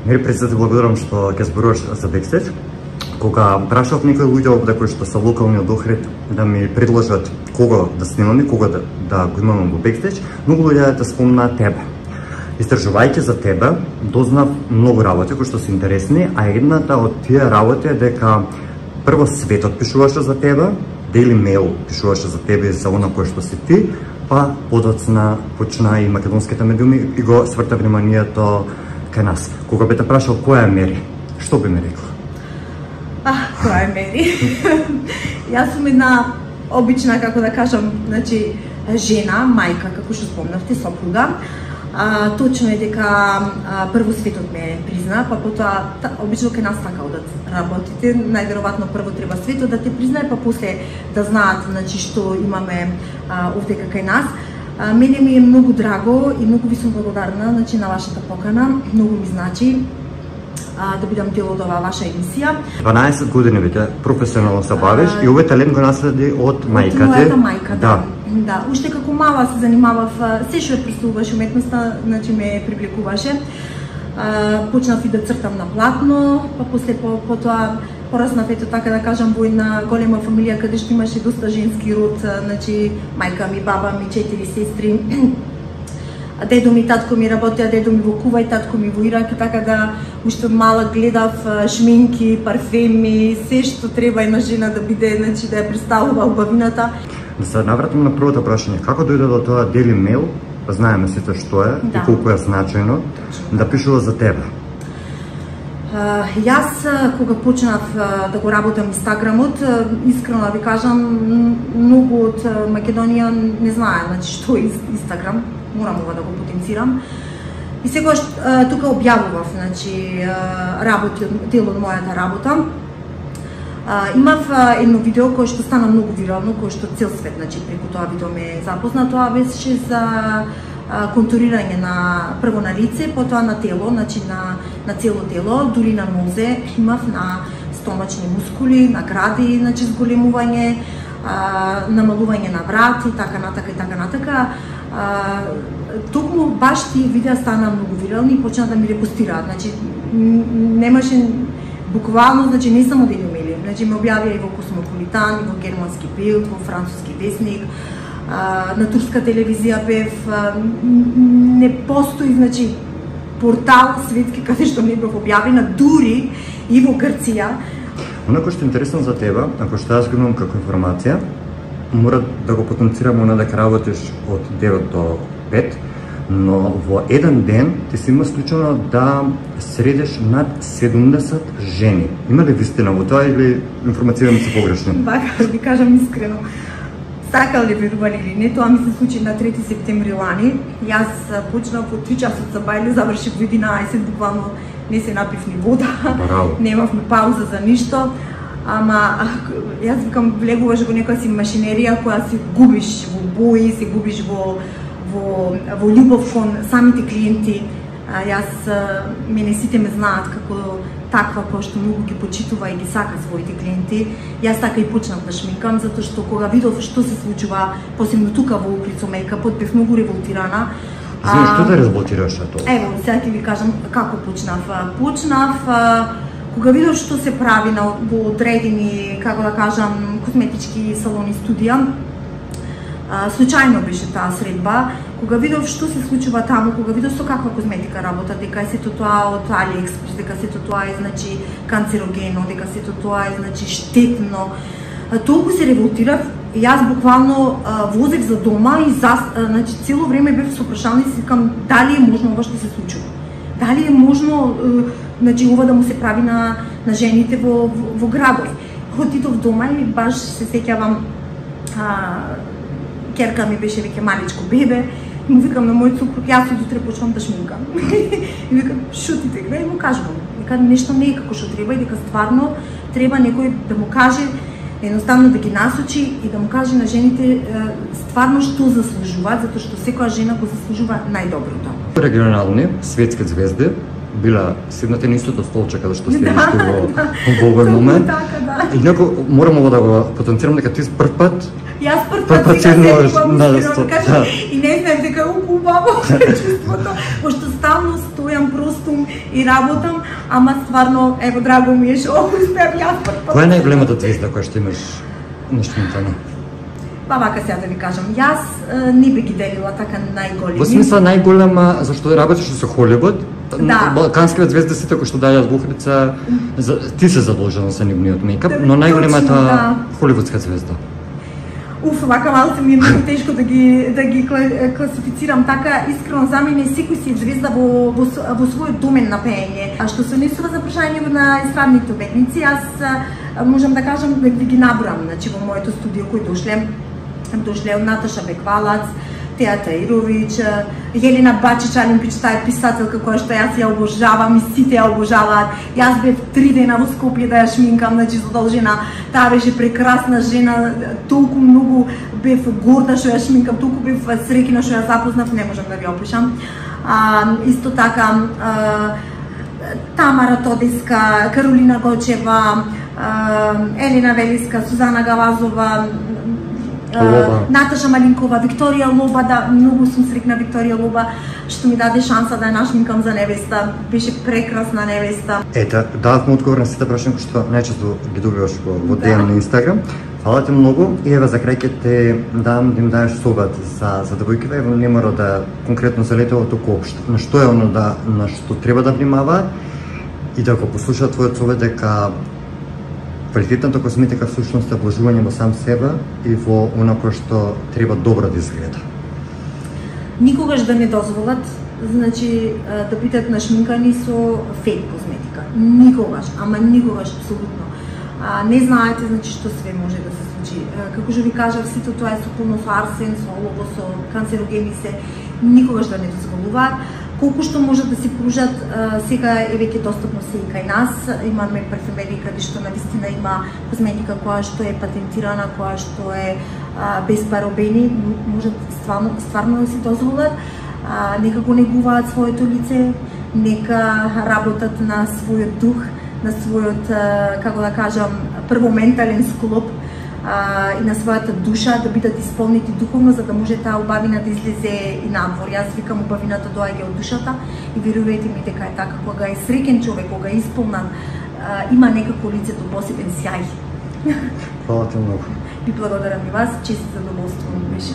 Мери, пред се благодарам што ќе зборуваш за бекстејдж. Кога прашав некои луѓе овде кои што се локални од Охрид да ми предложат кого да снимаме, кога да го имаме во бекстејдж, многу луѓе да спомнаа тебе. Истражувајќи за тебе, дознав многу работи кои што се интересни, а едната од тие работи е дека прво светот пишуваше за тебе, Daily Mail пишуваше за тебе и за она кој што си ти, па подоцна почна и македонските медиуми и го сврта вниманието кај нас. Кога би те прашал која е Мери, што би ми рекла? Која е Мери? Јас сум една обична, како да кажам, значи, жена, мајка, како што спомнавте, сопруга. Точно е дека прво светот ме призна, па потоа обично кај нас така одат работите. Најверојатно прво треба светот да те признае, па после да знаат, значи, што имаме овде кај нас. Мене ми е многу драго и многу ви сум благодарна, значи, на вашата покана. Многу ми значи да бидам дел од оваа ваша емисија. 12 години веќе професионално се бавиш и овој талент го наследи од мајка ти. Од мојата мајка, да. Да, уште како мала се занимавав, се што ја представуваше уметноста, значи ме привлекуваше. Почнав и да цртам на платно, па после потоа пораснав, ето така да кажам, во една голема фамилија каде што имаше доста женски род, значи мајка ми, баба ми, 4 сестри. Дедо ми, татко ми работеа, дедо ми во Кувајт, татко ми во Ирак, и така да уште мала гледав шминки, парфеми, се што треба една жена да биде, значи да ја представува убавината. Да се навратим на првото прашање, како дојде до тоа Daily Mail, знаеме сите што е и колку е значајно, да пишува за тебе? Јас кога почнав да го работам Инстаграмот, искрено да ви кажам, многу од Македонија не знае, значи, што е Инстаграм, морам ова да го потенцирам. И секогаш тука објавував, значи, работи, дел од мојата работа. Имав едно видео кое што стана многу вирално, кое што цел свет, значи, преку тоа видео ме запозна. Тоа беше за контурирање на прво на лице, потоа на тело, значи на цело тело, дури на нозе, имав на стомачни мускули, на гради, значи зголемување, намалување на врат и така натака и така натака. Токму баш тие видеа стана многу вирални и почна да ми репостираат, значи немаше буквално, значи не само Денјумели, значи ме објавија и во Космополитан, и во Германски Билд, во Француски весник, на турска телевизија бев, не постои, значи, портал светски каде што не бев објавена, дури и во Грција. Онако што е интересно за тебе, ако што јас го имам како информација, мора да го потенцирам она дека работиш од 9 до 5, но во еден ден ти си има случајно да средиш над 70 жени. Има ли вистина во тоа или информацијата се погрешни? Бака, ви кажам искрено. Сакал ли верували или не, тоа ми се случи на 3 септември лани. Јас почнав од 3 часот за бајле, завршив во 11, буквално не се напив ни вода, немавме пауза за ништо. Ама јас викам, влегуваш во некоја си машинерија која се губиш во бои, се губиш во љубов кон самите клиенти. Јас, мене сите ме знаат како таква која што многу ги почитува и ги сака своите клиенти. Јас така и почнав да шминкам, затоа што кога видов што се случува, посебно тука во Охрид со мејкапот, бев многу револтирана. Знаеш, што да револтираш тоа? Ево, сега ќе ви кажам како почнав. Кога видов што се прави во одредени, како да кажам, косметички салони, студија, случајно беше таа средба, кога видов што се случува таму, кога видов со каква козметика работа, дека сето тоа од AliExpress, дека сето тоа е, значи, канцерогено, дека сето тоа е, значи, штетно, толку се револтирав и јас буквално возех за дома и значи, цело време бев со прашање и си викам дали е можно ова што се случува. Дали е можно, значи, ова да му се прави на жените во градов. Отидов дома и баш се сеќавам, керка ми беше веќе маличко бебе, и му викам на мојот супруг, јас од утре почнам да шминкам. И викам, шутите гледа, и му кажувам, дека нешто не е како што треба и дека стварно треба некој да му каже, едноставно да ги насочи и да му каже на жените стварно што заслужуваат, затоа што секоја жена го заслужува најдоброто. Регионални светски звезди била седнати на истото столче каде што седиш во овој момент. И неко морам да го потенцирам дека ти прв пат Јас прв пат сега седнувам, и не знаем дека дека убаво чувството, пошто стално стојам простум и работам, ама стварно, ево, драго ми е што успеам јас прв пат. Која е најголемата звезда која што имаш на Шминтана? Па вака сега да ви кажам, јас не би ги делила така најголеми. Во смисла најголема, зашто работиш со Холивуд, балканските звезди сите кои што дајат бухрица, ти се задолжена за нивниот мејкап, но најголемата холивудска звезда. Уф, вака малку ми е многу тешко да ги класифицирам така. Искрено за мене секој си звезда во својот домен на пеење. А што се однесува за прашањето на естрадните уметници, јас можам да кажам да ги набрам, значи во моето студио кој дошле од Наташа Беквалац, Теја Таировиќ, Јелена Бачич Алимпич, таа е писателка која што јас ја обожавам и сите ја обожаваат. Јас бев 3 дена во Скопје да ја шминкам, значи задолжена. Таа беше прекрасна жена, толку многу бев горда што ја шминкам, толку бев среќна што ја запознав, не можам да ви опишам. Исто така Тамара Тодеска, Каролина Гочева, Елена Велиска, Сузана Галазова, Наташа Малинкова, Викторија Лоба, да, многу сум среќна Викторија Лоба, што ми даде шанса да ја нашминкам за невеста. Беше прекрасна невеста. Ето, дадовме одговор на сите прашања кои што најчесто ги добиваш во DM на Инстаграм. Фала ти многу и еве за крај ќе те дам да им даеш совет за девојките, еве не мора да конкретно за летово, туку општо. На што е оно на што треба да внимаваат и да го послушаат твојот совет дека квалитетната косметика всушност е вложување во сам себе и во она кое што треба добро да изгледа. Никогаш да не дозволат, значи да бидат нашминкани со фейк косметика. Никогаш, ама никогаш апсолутно. Не знаете значи што све може да се случи. Како што ви кажав, сите тоа е со пулно со арсен, со олово, со канцерогени се, никогаш да не дозволуваат. Колку што може да се пружат, сега е веќе достапно се и кај нас. Имаме парфумерии каде што навистина има козметика која што е патентирана, која што е без парабени, можат стварно да се дозволат. Нека го негуваат своето лице, нека работат на својот дух, на својот, како да кажам, прво ментален склоп и на својата душа, да бидат исполнети духовно, за да може таа убавина да излезе и надвор. Јас викам, убавината доаѓа од душата и верувајте ми дека е така. Кога е среќен човек, кога е исполнат, има некако лицето посебен сјај. Фала ти многу. Ви благодарам и вас, чест задоволство ми беше.